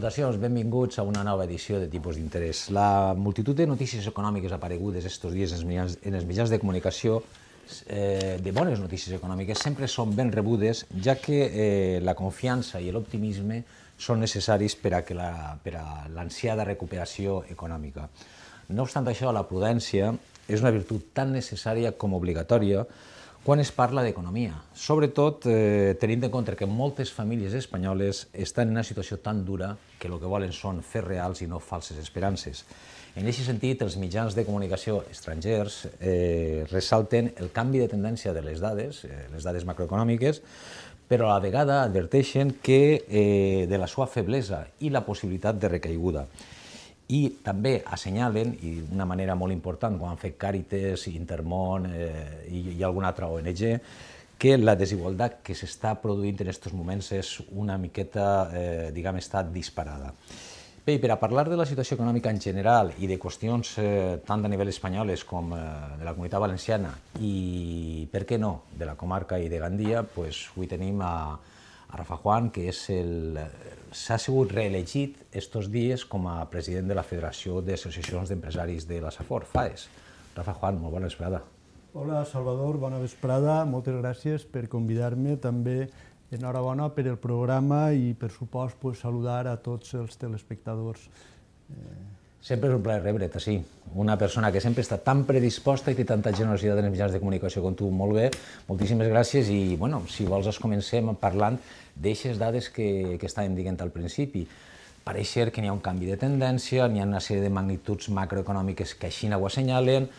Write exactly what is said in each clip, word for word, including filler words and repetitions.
Salutacions, benvinguts a una nova edició de Tipus d'Interès. La multitud de notícies econòmiques aparegudes estos dies en els mitjans de comunicació, de bones notícies econòmiques, sempre són ben rebudes, ja que la confiança i l'optimisme són necessaris per a l'ansiada recuperació econòmica. No obstant això, la prudència és una virtut tan necessària com obligatòria quan es parla d'economia, sobretot tenint en compte que moltes famílies espanyoles estan en una situació tan dura que el que volen són fets reals i no falses esperances. En aquest sentit, els mitjans de comunicació estrangers ressalten el canvi de tendència de les dades, les dades macroeconòmiques, però a la vegada adverteixen de la seva feblesa i la possibilitat de recaiguda. I també assenyalen, i d'una manera molt important, com han fet Càritas, Intermón i alguna altra O N G, que la desigualtat que s'està produint en aquests moments és una miqueta, diguem, està disparada. Bé, per a parlar de la situació econòmica en general i de qüestions tant a nivell espanyoles com de la Comunitat Valenciana i, per què no, de la comarca i de Gandia, avui tenim a Rafa Juan, que s'ha sigut reelegit estos dies com a president de la Federació d'Associacions d'Empresaris de la Safor, FAES. Rafa Juan, molt bona vesprada. Hola, Salvador, bona vesprada. Moltes gràcies per convidar-me. També enhorabona per el programa i, per supost, saludar a tots els telespectadors. Sempre és un plaer rebre't, sí. Una persona que sempre està tan predisposta i té tanta generositat en els mitjans de comunicació com tu, molt bé. Moltíssimes gràcies i, bueno, si vols, comencem parlant d'aixes dades que estàvem dient al principi. Pareix ser que n'hi ha un canvi de tendència, n'hi ha una sèrie de magnituds macroeconòmiques que així ho assenyalen,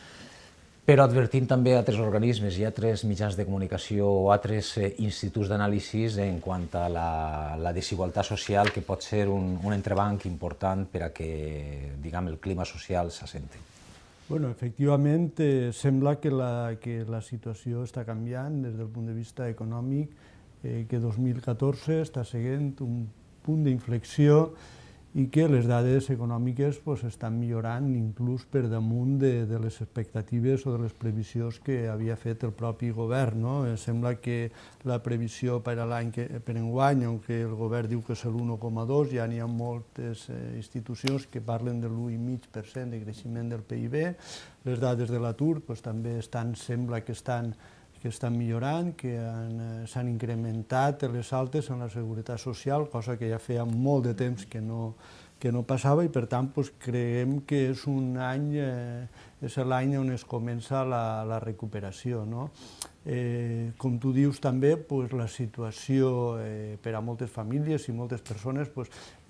però advertint també altres organismes i altres mitjans de comunicació o altres instituts d'anàlisis en quant a la desigualtat social, que pot ser un entrebanc important per a que, diguem, el clima social s'assenti. Bueno, efectivament, sembla que la situació està canviant des del punt de vista econòmic, que dos mil catorze està seguint un punt d'inflexió i que les dades econòmiques estan millorant inclús per damunt de les expectatives o de les previsions que havia fet el propi govern. Sembla que la previsió per a l'any per enguany, on el govern diu que és l'un coma dos, ja n'hi ha moltes institucions que parlen de l'un coma cinc per cent de creixement del P I B. Les dades de l'atur també sembla que estan que estan millorant, que s'han incrementat les altes en la seguretat social, cosa que ja feia molt de temps que no passava i, per tant, creiem que és un any, és l'any on es comença la recuperació. Com tu dius també, la situació per a moltes famílies i moltes persones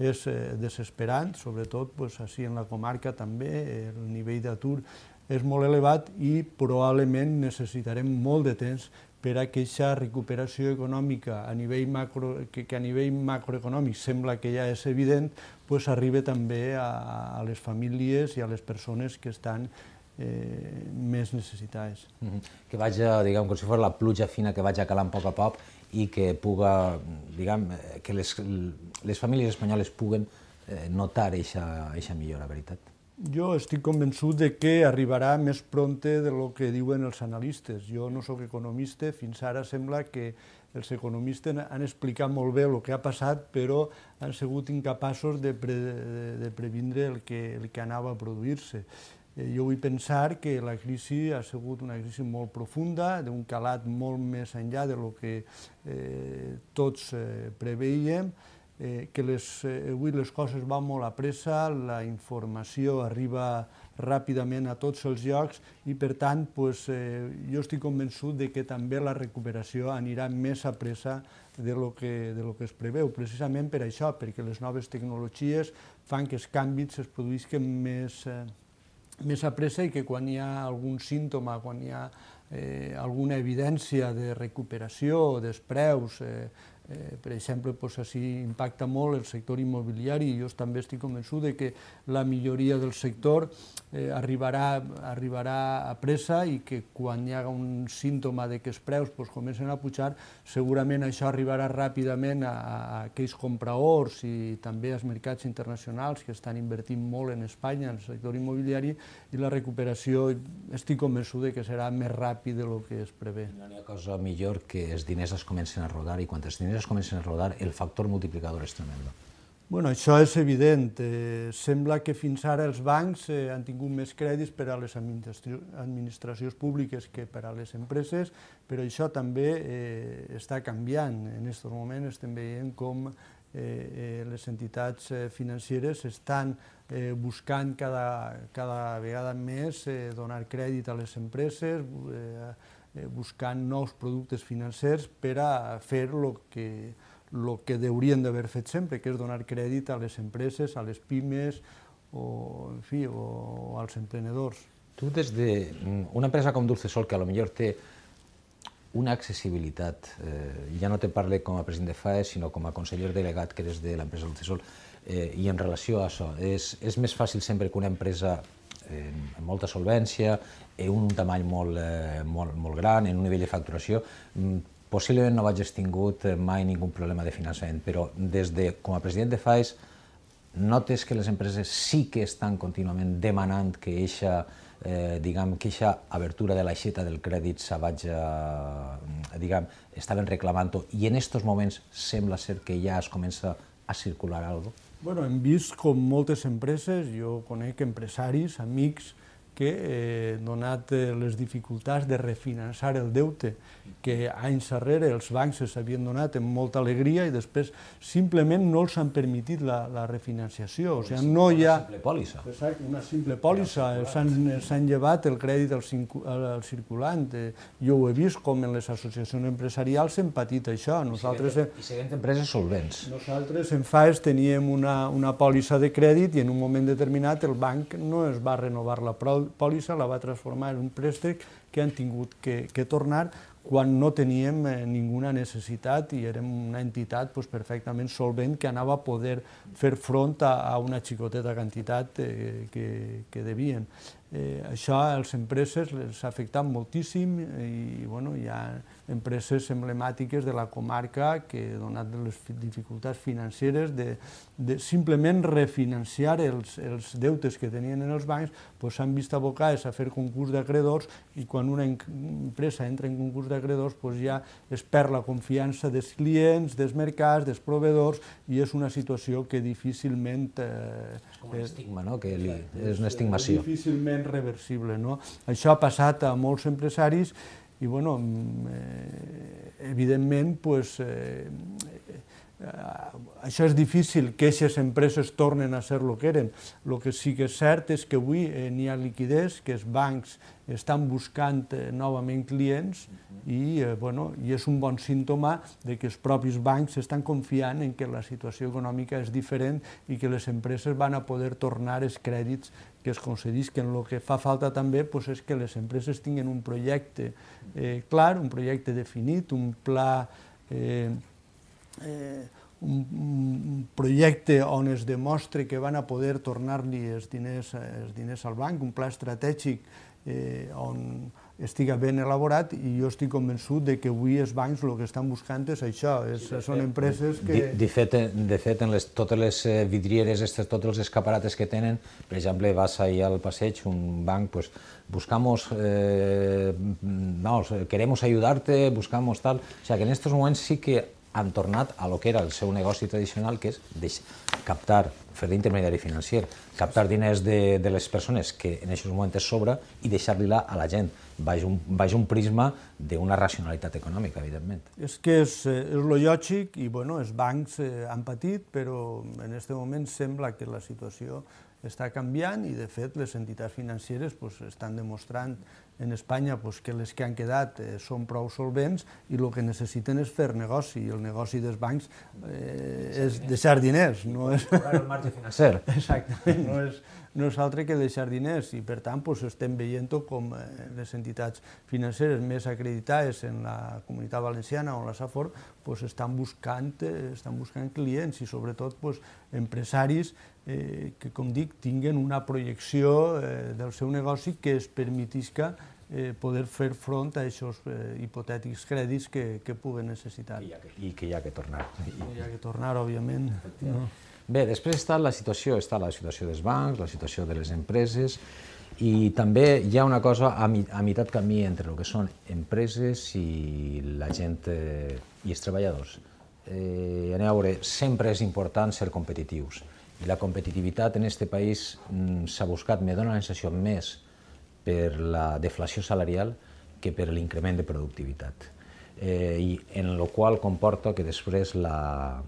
és desesperant, sobretot així en la comarca també, el nivell d'atur és molt elevat i probablement necessitarem molt de temps per a que aquesta recuperació econòmica que a nivell macroeconòmic sembla que ja és evident, arribi també a les famílies i a les persones que estan més necessitades. Que vagi, diguem, com si fos la pluja fina que vagi calant a poc a poc i que puga, diguem, que les famílies espanyoles puguen notar aquesta millora, veritat? Jo estic convençut que arribarà més prompte del que diuen els analistes. Jo no soc economista, fins ara sembla que els economistes han explicat molt bé el que ha passat, però han sigut incapaços de previndre el que anava a produir-se. Jo vull pensar que la crisi ha sigut una crisi molt profunda, d'un calat molt més enllà del que tots preveiem, que avui les coses van molt a pressa, la informació arriba ràpidament a tots els llocs i, per tant, jo estic convençut que també la recuperació anirà més a pressa del que es preveu, precisament per això, perquè les noves tecnologies fan que els canvis es produïsquen més a pressa i que quan hi ha algun símptoma, quan hi ha alguna evidència de recuperació dels preus, per exemple, així impacta molt el sector immobiliari i jo també estic convençut que la milloria del sector arribarà a pressa i que quan hi ha un símptoma que els preus comencen a pujar, segurament això arribarà ràpidament a aquells compradors i també als mercats internacionals que estan invertint molt en Espanya, en el sector immobiliari, i la recuperació estic convençut que serà més ràpida del que es prevé. No hi ha cosa millor que els diners es comencen a rodar i quan els diners es comencen a rodar el factor multiplicador és tremendo. Bueno, això és evident. Eh, sembla que fins ara els bancs eh, han tingut més crèdits per a les administracions públiques que per a les empreses, però això també eh, està canviant. En aquest moment estem veient com eh, eh, les entitats eh, financeres estan eh, buscant cada, cada vegada més eh, donar crèdit a les empreses, eh, eh, buscant nous productes financers per a fer el que el que haurien d'haver fet sempre, que és donar crèdit a les empreses, a les pimes o, en fi, o als emprenedors. Tu, des d'una empresa com Dulcesol, que potser té una accessibilitat, eh, ja no te parlo com a president de F A E, sinó com a conseller delegat que eres de l'empresa Dulcesol, eh, i en relació a això, és, és més fàcil sempre que una empresa eh, amb molta solvència, en un tamany molt, eh, molt, molt gran, en un nivell de facturació, possiblement no hagis tingut mai ningú problema de finançament, però des de, com a president de F A E S, notes que les empreses sí que estan contínuament demanant que eixa, eh, diguem, que eixa abertura de l'aixeta del crèdit se vagi, diguem, estaven reclamant-ho, i en aquests moments sembla ser que ja es comença a circular alguna cosa? Bueno, hem vist com moltes empreses, jo conec empresaris, amics, que, eh, donat les dificultats de refinançar el deute que anys darrere els bancs s'havien donat amb molta alegria i després simplement no els han permitit la, la refinanciació. O sigui, no hi ha... Una simple pòlissa. Exacte, una simple pòlissa. S'han llevat el crèdit al, al circulant. Jo ho he vist com en les associacions empresarials hem patit això. Nosaltres, I seguint empreses solvents. Nosaltres en F A E S teníem una, una pòlissa de crèdit i en un moment determinat el banc no es va renovar la pòlissa, la va transformar en un préstec que han tingut que, que tornar quan no teníem eh, ninguna necessitat i érem una entitat pues, perfectament solvent que anava a poder fer front a, a una xicoteta quantitat eh, que, que devien. Eh, això a les empreses les ha afectat moltíssim i bueno, hi ha empreses emblemàtiques de la comarca que, donat les dificultats financeres, de, de simplement refinanciar els, els deutes que tenien en els bancs, s'han vist abocades a fer concurs d'acreedors i quan una empresa entra en concurs d'acreedors pues ja es perd la confiança dels clients, dels mercats, dels proveïdors i és una situació que difícilment... Eh, és com un estigma, no? Que li, és una estigmació. Difícilment reversible, no? Això ha passat a molts empresaris i, bueno, eh, evidentment, pues, eh, eh, això és difícil que aquestes empreses tornen a ser el que eren. El que sí que és cert és que avui eh, n'hi ha liquiditat, que els bancs estan buscant eh, novament clients i, eh, bueno, i és un bon símptoma de que els propis bancs estan confiant en que la situació econòmica és diferent i que les empreses van a poder tornar els crèdits que es concedisquen. El que fa falta també pues, és que les empreses tinguin un projecte eh, clar, un projecte definit, un pla, eh, eh, un, un projecte on es demostre que van a poder tornar-li els diners, els diners al banc, un pla estratègic eh, on estiga ben elaborat i jo estic convençut de que avui els bancs el que estan buscant és això, és, sí, són empreses que... De, de fet, de fet en les, totes les vidrieres, estes, tots els escaparates que tenen, per exemple, vas ahí al passeig, un banc, pues, buscamos, eh, vamos, queremos ayudarte, buscamos tal... O sea, que en estos moments sí que han tornat a lo que era el seu negoci tradicional, que és captar, fer d'intermediari financer, captar diners de, de les persones que en aquests moments sobra i deixar-li-la a la gent, baix un, baix un prisma d'una racionalitat econòmica, evidentment. És que és, és lo lògic i bueno, els bancs eh, han patit, però en aquest moment sembla que la situació està canviant i, de fet, les entitats financeres pues, estan demostrant en Espanya pues, que les que han quedat eh, són prou solvents i el que necessiten és fer negoci. I el negoci dels bancs eh, és deixar diners. No és... el marge financer. Exactament, no és, no és altre que deixar diners i, per tant, pues, estem veient com eh, les entitats financeres més acreditades en la Comunitat Valenciana o en la Safor pues, estan, buscant, eh, estan buscant clients i, sobretot, pues, empresaris eh, que, com dic, tinguen una projecció eh, del seu negoci que es permetisca eh, poder fer front a aquests eh, hipotètics crèdits que, que puguen necessitar. I, que, I que hi ha que tornar. I hi ha que tornar, òbviament. No? Bé, després està la situació, està la situació dels bancs, la situació de les empreses, i també hi ha una cosa a, mi, a meitat camí entre el que són empreses i la gent eh, i els treballadors. eh, a veure, sempre és important ser competitius. I la competitivitat en aquest país s'ha buscat, me dóna la sensació, més per la deflació salarial que per l'increment de productivitat. Eh, i en el qual comporta que després la,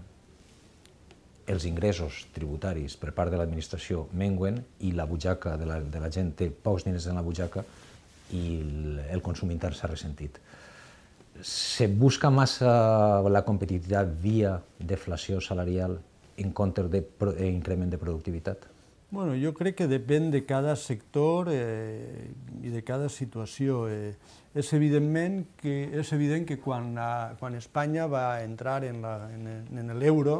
els ingressos tributaris per part de l'administració menguen i la butxaca de la, de la gent té pocs diners en la butxaca i el, el consum intern s'ha ressentit. Se busca massa la competitivitat via deflació salarial en comptes d'increment de productivitat? Bueno, jo crec que depèn de cada sector eh, i de cada situació. Eh, és, evidentment que, és evident que quan, la, quan Espanya va entrar en l'euro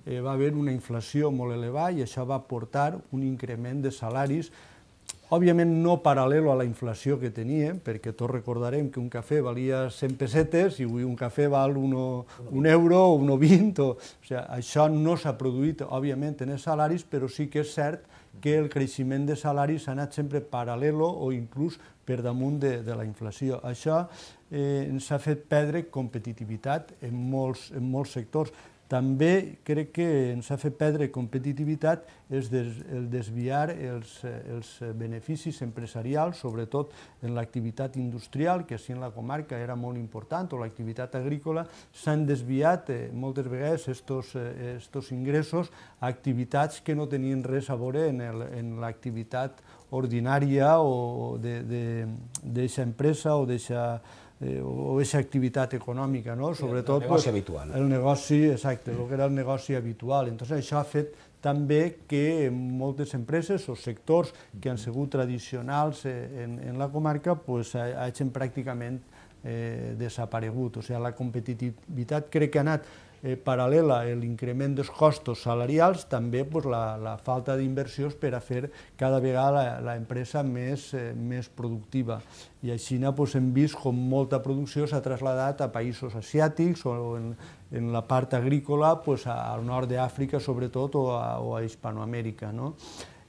eh, va haver una inflació molt elevada i això va portar un increment de salaris, òbviament no paral·lel a la inflació que teníem, perquè tots recordarem que un cafè valia cent pessetes i avui un cafè val uno, un euro o un vint. O, o sigui, això no s'ha produït, òbviament, en els salaris, però sí que és cert que el creixement de salaris ha anat sempre paral·lelo o inclús per damunt de, de la inflació. Això eh, ens ha fet perdre competitivitat en molts, en molts sectors. També crec que ens ha fet perdre competitivitat és des, el desviar els, els beneficis empresarials, sobretot en l'activitat industrial, que així en la comarca era molt important, o l'activitat agrícola, s'han desviat eh, moltes vegades estos, eh, estos ingressos a activitats que no tenien res a veure en, el, en l'activitat ordinària o d'aquesta empresa o d'aquesta o aquesta activitat econòmica, no? Sobretot el negoci habitual. El negoci, exacte, el que era el negoci habitual. Entonces, això ha fet també que moltes empreses o sectors que han sigut tradicionals en, en la comarca pues, hagin pràcticament eh, desaparegut. O sigui, la competitivitat crec que ha anat eh, paral·lela a l'increment dels costos salarials, també pues, la, la falta d'inversions per a fer cada vegada l'empresa més, eh, més productiva. I així pues, hem vist com molta producció s'ha traslladat a països asiàtics o en, en la part agrícola pues, al nord d'Àfrica sobretot o a, o a Hispanoamèrica. No?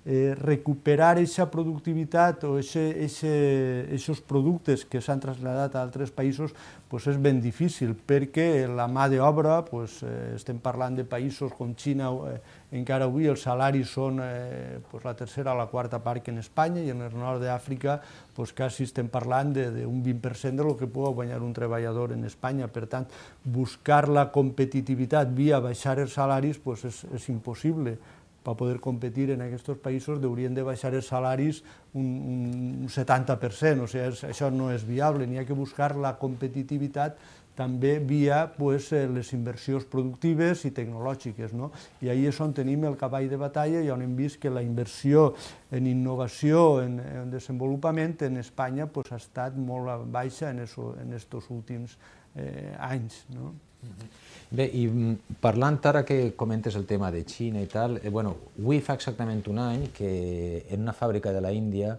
Eh, recuperar aquesta productivitat o aquests productes que s'han traslladat a altres països pues és ben difícil perquè la mà d'obra, pues, eh, estem parlant de països com Xina, eh, encara avui els salaris són eh, pues la tercera o la quarta part que en Espanya i en el nord d'Àfrica pues quasi estem parlant d'un vint per cent del que pot guanyar un treballador en Espanya. Per tant, buscar la competitivitat via baixar els salaris pues és, és impossible. Per poder competir en aquests països haurien de baixar els salaris un, un setanta per cent, o sigui, això no és viable, n'hi ha que buscar la competitivitat també via pues, les inversions productives i tecnològiques. No? I ahí és on tenim el cavall de batalla i on hem vist que la inversió en innovació, en, en desenvolupament, en Espanya pues, ha estat molt baixa en aquests últims eh, anys. No? Bé, i parlant ara que comentes el tema de Xina i tal, eh, bueno, avui fa exactament un any que en una fàbrica de la Índia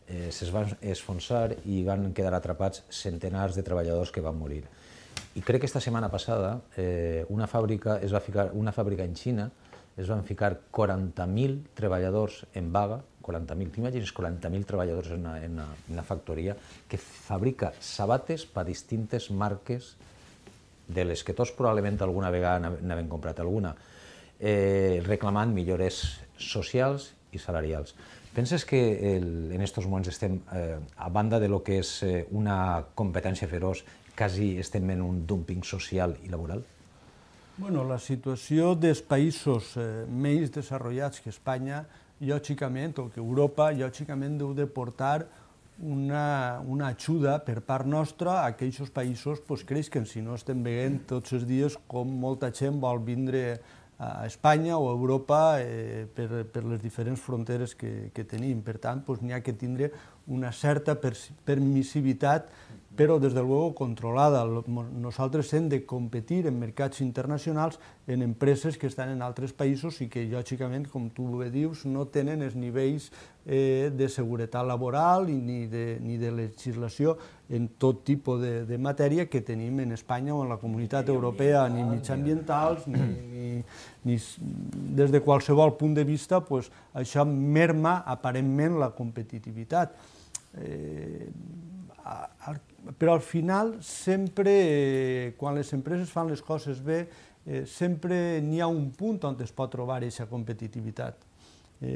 eh, es van esfonsar i van quedar atrapats centenars de treballadors que van morir. I crec que esta setmana passada eh, una, fàbrica es va ficar, una fàbrica en Xina es van ficar quaranta mil treballadors en vaga, quaranta mil, t'imagines quaranta mil treballadors en una, en una, una factoria que fabrica sabates per a distintes marques de les que tots probablement alguna vegada n'havem comprat alguna, eh, reclamant millores socials i salarials. Penses que el, en aquests moments estem, eh, a banda de lo que és eh, una competència feroç, quasi estem en un dumping social i laboral? Bueno, la situació dels països eh, menys desenvolupats que Espanya, lògicament, o que Europa, lògicament deu de portar Una, una ajuda per part nostra a aquells països pues, creixen. Si no estem veient tots els dies com molta gent vol vindre a Espanya o a Europa eh, per, per les diferents fronteres que, que tenim. Per tant, pues, n'hi ha que tindre una certa permissivitat, però des de luego controlada. Nosaltres hem de competir en mercats internacionals en empreses que estan en altres països i que, lògicament, com tu bé dius, no tenen els nivells eh, de seguretat laboral ni de, ni de legislació en tot tipus de, de matèria que tenim en Espanya o en la Comunitat Europea, ni mitjambientals, ni, ni, ni des de qualsevol punt de vista, pues, això merma aparentment la competitivitat. Eh, però al final sempre, eh, quan les empreses fan les coses bé, sempre n'hi ha un punt on es pot trobar aquesta competitivitat.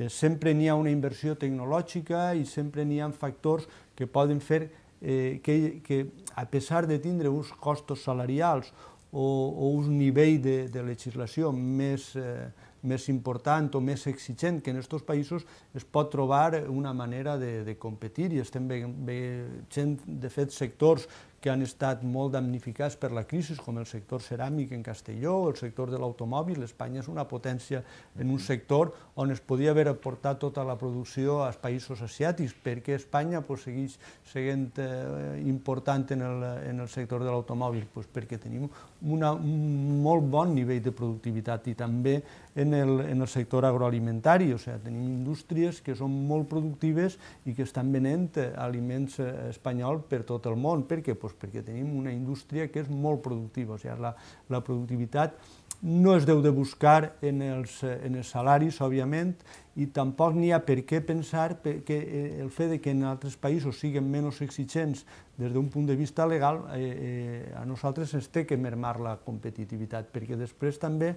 Sempre n'hi ha una inversió tecnològica i sempre n'hi ha factors que poden fer que, a pesar de tindre uns costos salarials o un nivell de legislació més més important o més exigent que en aquests països, es pot trobar una manera de competir i estem veient, de fet, sectors que han estat molt damnificats per la crisi, com el sector ceràmic en Castelló o el sector de l'automòbil. Espanya és una potència en un sector on es podia haver aportat tota la producció als països asiàtics. Per què Espanya segueix sent important en el sector de l'automòbil? Perquè tenim un molt bon nivell de productivitat i també en el sector agroalimentari, o sigui, tenim indústries que són molt productives i que estan venent aliments espanyols per tot el món. Per què? Perquè tenim una indústria que és molt productiva, o sigui, la productivitat no es deu de buscar en els salaris, òbviament, i tampoc n'hi ha per què pensar que el fet que en altres països siguin menys exigents des d'un punt de vista legal, a nosaltres ens té que mermar la competitivitat, perquè després també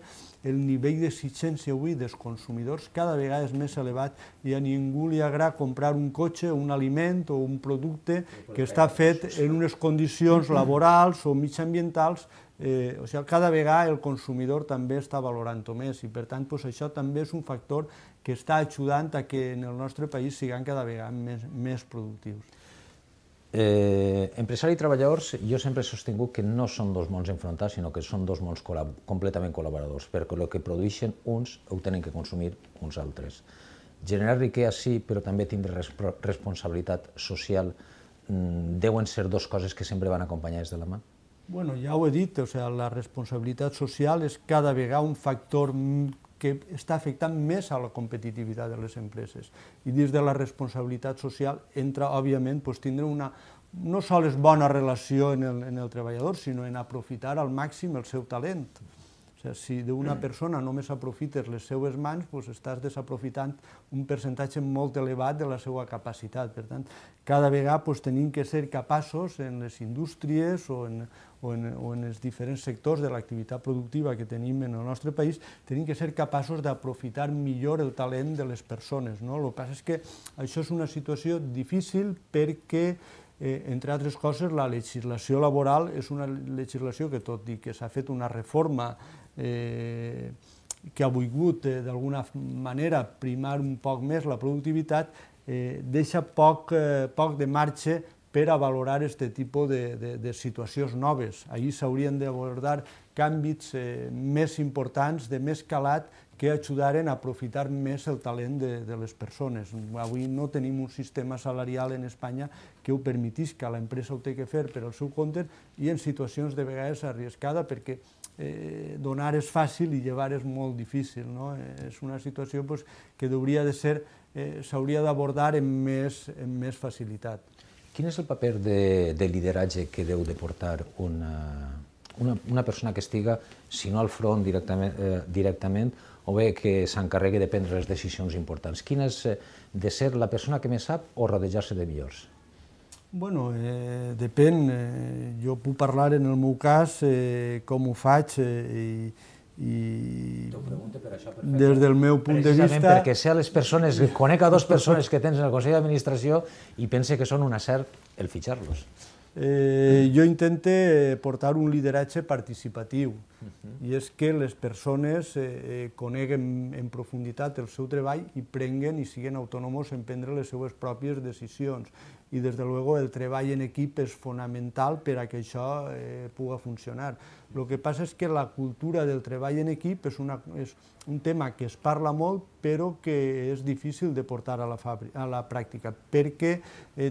el nivell d'exigència avui dels consumidors cada vegada és més elevat i a ningú li agrada comprar un cotxe, un aliment o un producte que està fet en unes condicions laborals o mitjanambientals. O sigui, cada vegada el consumidor també està valorant-ho més i, per tant, això també és un factor que està ajudant a que en el nostre país siguem cada vegada més productius. Empresari i treballadors, jo sempre he sostingut que no són dos mons enfrontats, sinó que són dos mons completament col·laboradors, perquè el que produeixen uns ho tenen que consumir uns altres. Generar riquesa sí, però també tindre responsabilitat social deuen ser dues coses que sempre van acompanyades de la mà? Bueno, ja ho he dit, la responsabilitat social és cada vegada un factor que està afectant més a la competitivitat de les empreses. I dins de la responsabilitat social entra, òbviament, tindre una no sols bona relació en el treballador, sinó en aprofitar al màxim el seu talent. Si d'una persona només aprofites les seues mans, estàs desaprofitant un percentatge molt elevat de la seva capacitat. Per tant, cada vegada tenim que ser capaços en les indústries o en els diferents sectors de l'activitat productiva que tenim en el nostre país, tenim que ser capaços d'aprofitar millor el talent de les persones. El que passa és que això és una situació difícil perquè, entre altres coses, la legislació laboral és una legislació que, tot i que s'ha fet una reforma que ha volgut d'alguna manera primar un poc més la productivitat, deixa poc de marge per a valorar aquest tipus de situacions noves. Ahir s'haurien d'abordar canvis més importants, de més calat, que ajudaren a aprofitar més el talent de les persones. Avui no tenim un sistema salarial en Espanya que ho permetís, que l'empresa ho té que fer per al seu compte i en situacions de vegades arriscada perquè donar és fàcil i llevar és molt difícil. És una situació que s'hauria d'abordar amb més facilitat. Quin és el paper de lideratge que deu de portar una persona que estiga, si no al front directament, o bé que s'encarregui de prendre les decisions importants? Quina és de ser la persona que més sap o rodejar-se de millors? Bueno, depèn. Jo puc parlar en el meu cas com ho faig i des del meu punt de vista... Precisament perquè sé a les persones, conec a dues persones que tens en el Consell d'Administració i pense que són un acert el fitxar-los. Jo intente portar un lideratge participatiu i és que les persones coneguen en profunditat el seu treball i prenguen i siguin autònoms en prendre les seues pròpies decisions. I, des de luego, el treball en equip és fonamental per a que això pugui funcionar. El que passa és que la cultura del treball en equip és un tema que es parla molt, però que és difícil de portar a la pràctica, perquè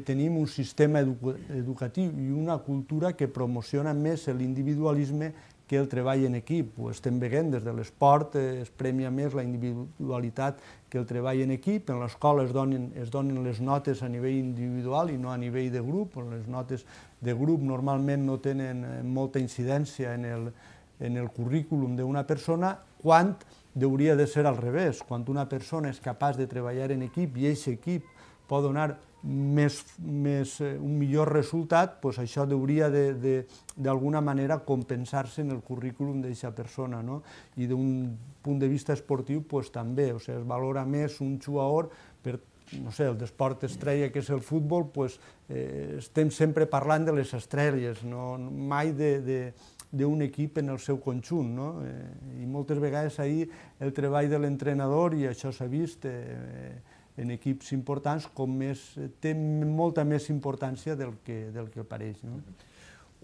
tenim un sistema educatiu i una cultura que promociona més l'individualisme que el treball en equip. Ho estem veient des de l'esport, es premia més la individualitat que el treball en equip. En l'escola es donen les notes a nivell individual i no a nivell de grup. Les notes de grup normalment no tenen molta incidència en el currículum d'una persona, quan hauria de ser al revés. Quan una persona és capaç de treballar en equip i aquest equip pot donar més, més, un millor resultat, doncs això hauria d'alguna manera compensar-se en el currículum d'aquesta persona, no? I d'un punt de vista esportiu doncs, també, o sigui, es valora més un jugador per, no sé, el d'esport estrella que és el futbol, doncs, eh, estem sempre parlant de les estrelles, no? Mai de, de d'un equip en el seu conjunt, no? I moltes vegades ahir el treball de l'entrenador, i això s'ha vist en equips importants, com més, té molta més importància del que, del que pareix, no?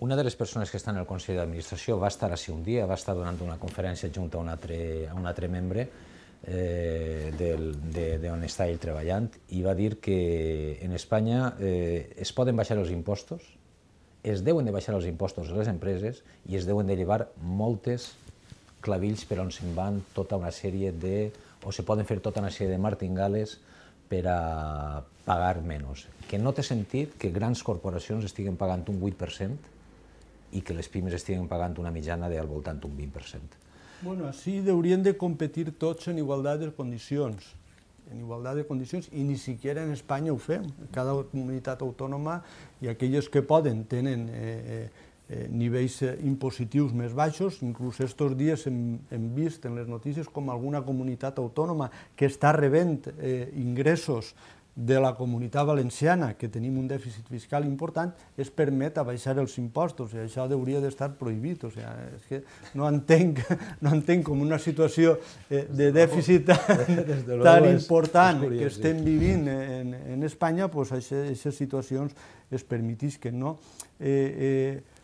Una de les persones que està en el Consell d'Administració va estar així un dia, va estar donant una conferència junt a un altre, a un altre membre eh, d'on està ell treballant, i va dir que en Espanya eh, es poden baixar els impostos, es deuen de baixar els impostos a les empreses i es deuen de llevar moltes clavills per on se'n van tota una sèrie de... o se poden fer tota una sèrie de martingales per a pagar menys. Que no té sentit que grans corporacions estiguen pagant un vuit per cent i que les pimes estiguen pagant una mitjana del voltant d'un vint per cent. Bueno, així haurien de competir tots en igualtat de condicions. en igualtat de condicions, i ni siquiera en Espanya ho fem. Cada comunitat autònoma i aquelles que poden tenen eh, eh, nivells impositius més baixos. Inclús estos dies hem, hem vist en les notícies com alguna comunitat autònoma que està rebent eh, ingressos de la Comunitat Valenciana, que tenim un dèficit fiscal important, es permet abaixar els impostos, i això hauria d'estar prohibit. O sigui, és que no entenc, no entenc com una situació de dèficit tan important que estem vivint en, en Espanya, doncs aquestes situacions es permetisquen, no? Eh, eh,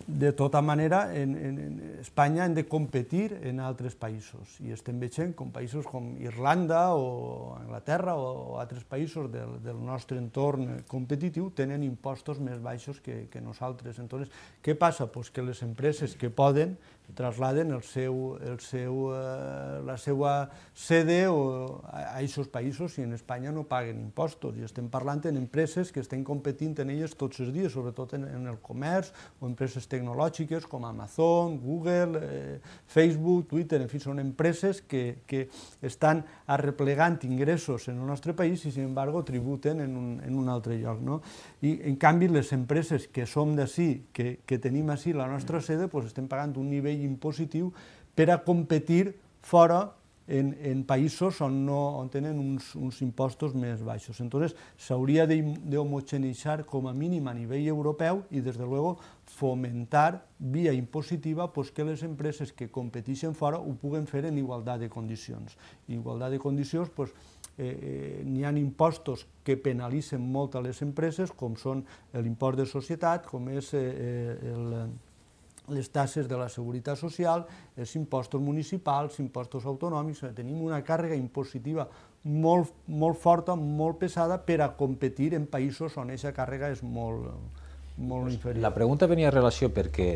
De tota manera, en, en Espanya hem de competir en altres països, i estem veient com països com Irlanda o Anglaterra o altres països del, del nostre entorn competitiu tenen impostos més baixos que, que nosaltres. Entonces, què passa? Pues que les empreses que poden trasladen el seu, el seu, eh, la seva sede o a aquests països, i en Espanya no paguen impostos. I estem parlant en empreses que estem competint en elles tots els dies, sobretot en, en el comerç o empreses tecnològiques com Amazon, Google, eh, Facebook, Twitter, en fi, són empreses que, que estan arreplegant ingressos en el nostre país i, sin embargo, tributen en un, en un altre lloc, no? I, en canvi, les empreses que som d'ací, que, que tenim ací la nostra sede, doncs estem pagant un nivell impositiu per a competir fora en, en països on, no, on tenen uns, uns impostos més baixos. Entonces, s'hauria d'homogeneïtzar com a mínim a nivell europeu i, des de luego, fomentar via impositiva pues, que les empreses que competeixen fora ho puguen fer en igualtat de condicions. Igualtat de condicions, pues, eh, eh, n'hi ha impostos que penalitzen molt a les empreses, com són l'impost de societat, com és eh, el... les taxes de la Seguretat Social, els impostos municipals, impostos autonòmics. Tenim una càrrega impositiva molt, molt forta, molt pesada, per a competir en països on aquesta càrrega és molt, molt inferior. La pregunta venia a relació perquè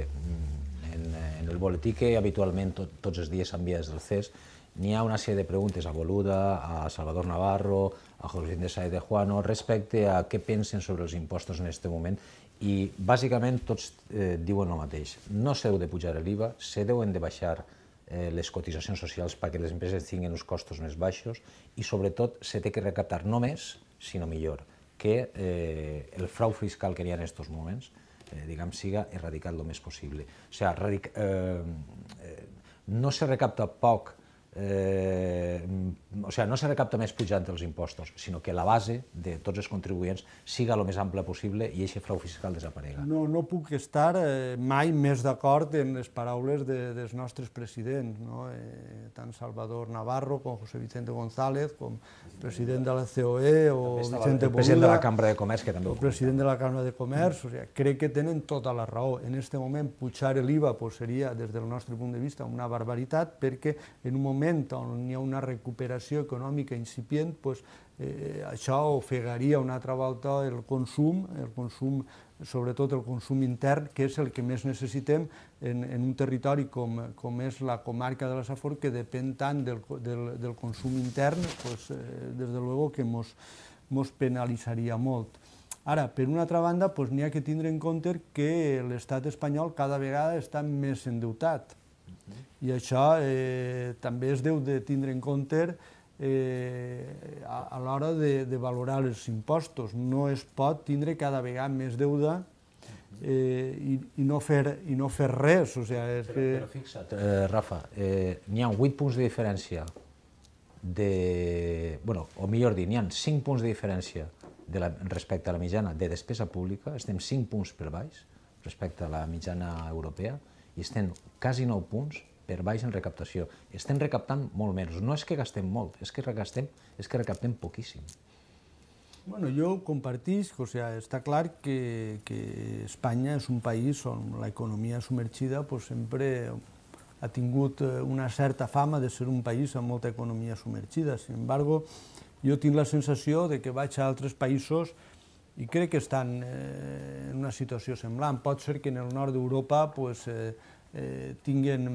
en, en el boletí que habitualment tot, tots els dies s'envia des del C E S n'hi ha una sèrie de preguntes a Boluda, a Salvador Navarro, a José Vicente Sáez de Juano, respecte a què pensen sobre els impostos en aquest moment, i bàsicament tots eh, diuen el mateix. No s'heu de pujar l'I V A, se deuen de baixar eh, les cotitzacions socials perquè les empreses tinguin uns costos més baixos i sobretot se té que recaptar no més, sinó millor, que eh, el frau fiscal que hi ha en aquests moments eh, diguem, siga erradicat el més possible. O sigui, radic, eh, eh, no se recapta poc, Eh, o sigui, no se recapta més pujant els impostos, sinó que la base de tots els contribuents siga el més ampla possible i aquest frau fiscal desaparega. No, no puc estar eh, mai més d'acord en les paraules de, dels nostres presidents, no? eh, tant Salvador Navarro com José Vicente González, com president de la C O E o Vicente Boluda, el president de la Cambra de Comerç, que també el president de la Cambra de Comerç. O sigui, crec que tenen tota la raó. En aquest moment, pujar l'I V A pues, seria, des del nostre punt de vista, una barbaritat, perquè en un moment on hi ha una recuperació econòmica incipient, pues, eh, això ofegaria una altra volta el consum, el consum, sobretot el consum intern, que és el que més necessitem en, en un territori com, com és la comarca de la Safor, que depèn tant del, del, del consum intern, pues, eh, des de luego que mos, mos penalitzaria molt. Ara, per una altra banda, pues, n'hi ha que tindre en compte que l'estat espanyol cada vegada està més endeutat. I això eh, també es deu de tindre en compte eh, a, a l'hora de, de valorar els impostos. No es pot tindre cada vegada més deuda eh, i, i, no fer, i no fer res. O sigui, és però, que... però fixa't, eh, Rafa, eh, n'hi ha vuit punts de diferència de... bueno, o millor dir, n'hi ha cinc punts de diferència de la, respecte a la mitjana de despesa pública, estem cinc punts per baix respecte a la mitjana europea i estem quasi nou punts per baix en recaptació. Estem recaptant molt menys. No és que gastem molt, és que recaptem, és que recaptem poquíssim. Bueno, jo ho compartisc, o sigui, està clar que, que Espanya és un país on l'economia submergida pues, sempre ha tingut una certa fama de ser un país amb molta economia submergida. Sin embargo, jo tinc la sensació de que vaig a altres països i crec que estan eh, en una situació semblant. Pot ser que en el nord d'Europa pues, eh, eh, tinguen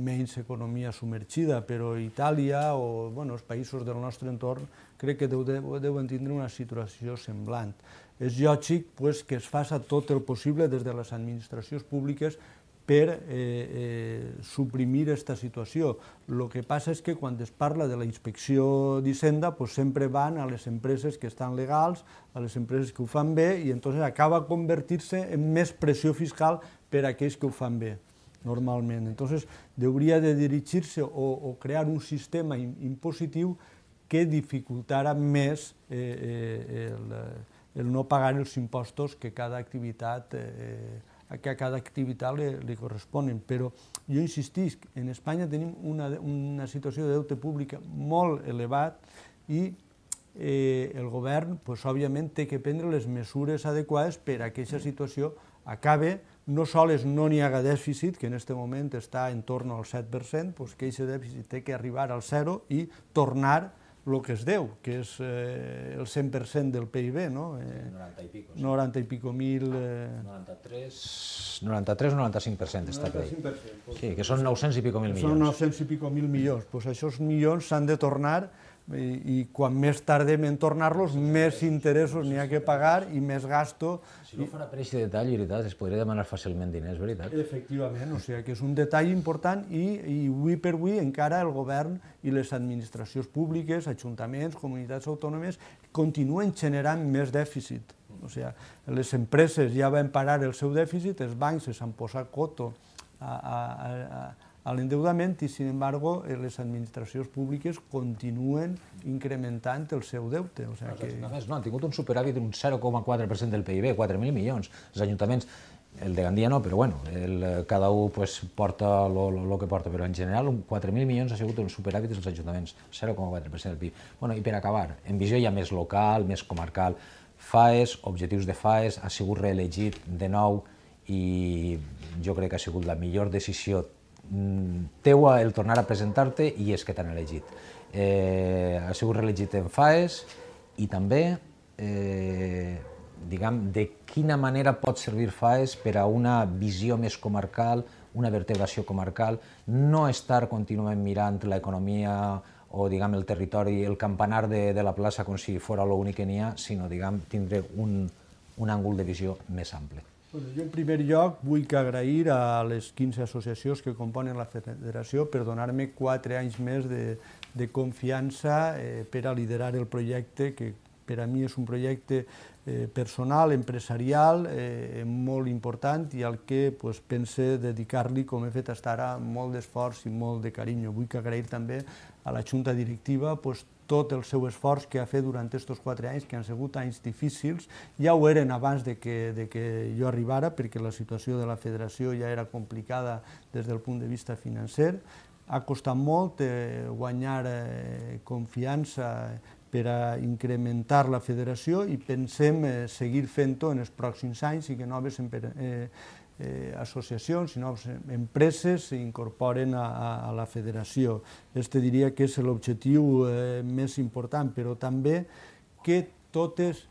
menys economia submergida, però Itàlia o bueno, els països del nostre entorn crec que deu, deuen tindre una situació semblant. És lògic pues, que es faça tot el possible des de les administracions públiques per eh, eh, suprimir aquesta situació. El que passa és que quan es parla de la inspecció d'Hisenda pues, sempre van a les empreses que estan legals, a les empreses que ho fan bé, i entonces acaba convertir-se en més pressió fiscal per a aquells que ho fan bé, normalment. Entonces, hauria de dirigir-se o, o crear un sistema impositiu que dificultara més eh, eh, el, el no pagar els impostos que cada activitat eh, que a cada activitat li, li corresponen. Però jo insistisc, en Espanya tenim una, una situació de deute pública molt elevat i eh, el govern, pues, òbviament, té que prendre les mesures adequades per a que aquesta situació acabe. No sols no n'hi haga dèficit, que en aquest moment està en torn al set per cent, pues, que aquest dèficit té que arribar al zero i tornar el que es deu, que és eh, el cent per cent del P I B, no? Eh, noranta i pico. Sí. noranta i pico mil... Eh... noranta-tres, noranta-tres o noranta-cinc per cent està per ahí. Pues, sí, que són nou-cents i pico mil milions. Són nou-cents i pico mil milions. Pues aquests milions s'han de tornar i, i quan més tardem en tornar-los, més interessos n'hi ha que pagar i més gasto. Si no fora per aquest detall, veritat, es podria demanar fàcilment diners, veritat? Efectivament, o sigui que és un detall important i, i avui per avui encara el govern i les administracions públiques, ajuntaments, comunitats autònomes, continuen generant més dèficit. O sigui, les empreses ja van parar el seu dèficit, els bancs s'han posat coto a, a, a, a l'endeudament i, sin embargo, les administracions públiques continuen incrementant el seu deute. O sigui que... No, han tingut un superàvit d'un zero coma quatre per cent del P I B, quatre mil milions. Els ajuntaments, el de Gandia no, però bueno, el, cada un pues, porta el que porta, però en general quatre mil milions ha sigut un superàvit dels ajuntaments, zero coma quatre per cent del P I B. Bueno, i per acabar, en visió ja més local, més comarcal, FAES, objectius de FAES, ha sigut reelegit de nou i jo crec que ha sigut la millor decisió teua el tornar a presentar-te i és que t'han elegit. Eh, ha sigut reelegit en FAES i també, eh, diguem, de quina manera pot servir FAES per a una visió més comarcal, una vertebració comarcal, no estar contínuament mirant l'economia o, diguem, el territori, el campanar de, de la plaça com si fos l'únic que n'hi ha, sinó, diguem, tindre un, un àngul de visió més ample. Bueno, jo, en primer lloc, vull que agrair a les quinze associacions que componen la federació per donar-me quatre anys més de, de confiança eh, per a liderar el projecte, que per a mi és un projecte eh, personal, empresarial, eh, molt important i al que pues, pense dedicar-li, com he fet fins ara, molt d'esforç i molt de carinyo. Vull que agrair també a la Junta Directiva pues, tot el seu esforç que ha fet durant aquests quatre anys, que han sigut anys difícils. Ja ho eren abans de que, de que jo arribara, perquè la situació de la federació ja era complicada des del punt de vista financer. Ha costat molt eh, guanyar eh, confiança per a incrementar la federació i pensem eh, seguir fent-ho en els pròxims anys i que noves eh, Eh, associacions i noves empreses s'incorporen a, a, a la federació. Este diria que és l'objectiu eh, més important, però també que totes,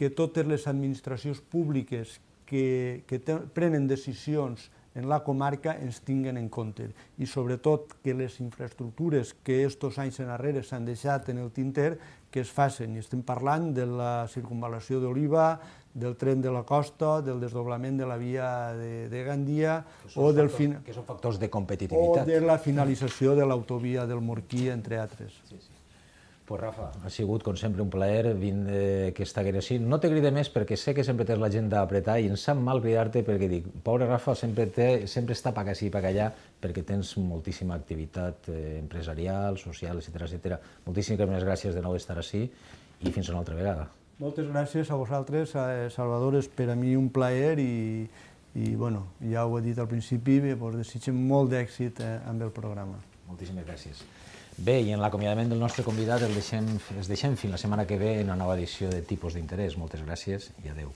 que totes les administracions públiques que, que te, prenen decisions en la comarca ens tinguen en compte i sobretot que les infraestructures que estos anys enrere s'han deixat en el tinter que es facin. I estem parlant de la circunvalació d'Oliva, del tren de la costa, del desdoblament de la via de, de Gandia o del factors, fin... que són factors de competitivitat. O de la finalització de l'autovia del Morquí, entre altres. Sí, sí. Pues Rafa, ha sigut, com sempre, un plaer vindre aquesta així. No te cride més perquè sé que sempre tens l'agenda a apretar i em sap mal cridar-te perquè dic, pobre Rafa, sempre, té, sempre està pa ací, pa allà, perquè tens moltíssima activitat eh, empresarial, social, etcètera, etcètera. Moltíssimes gràcies de nou estar ací i fins una altra vegada. Moltes gràcies a vosaltres, Salvador, és per a mi un plaer i, i bueno, ja ho he dit al principi, vos desitgem molt d'èxit amb el programa. Moltíssimes gràcies. Bé, i en l'acomiadament del nostre convidat el deixem, els deixem fins la setmana que ve en una nova edició de Tipus d'interès. Moltes gràcies i adeu.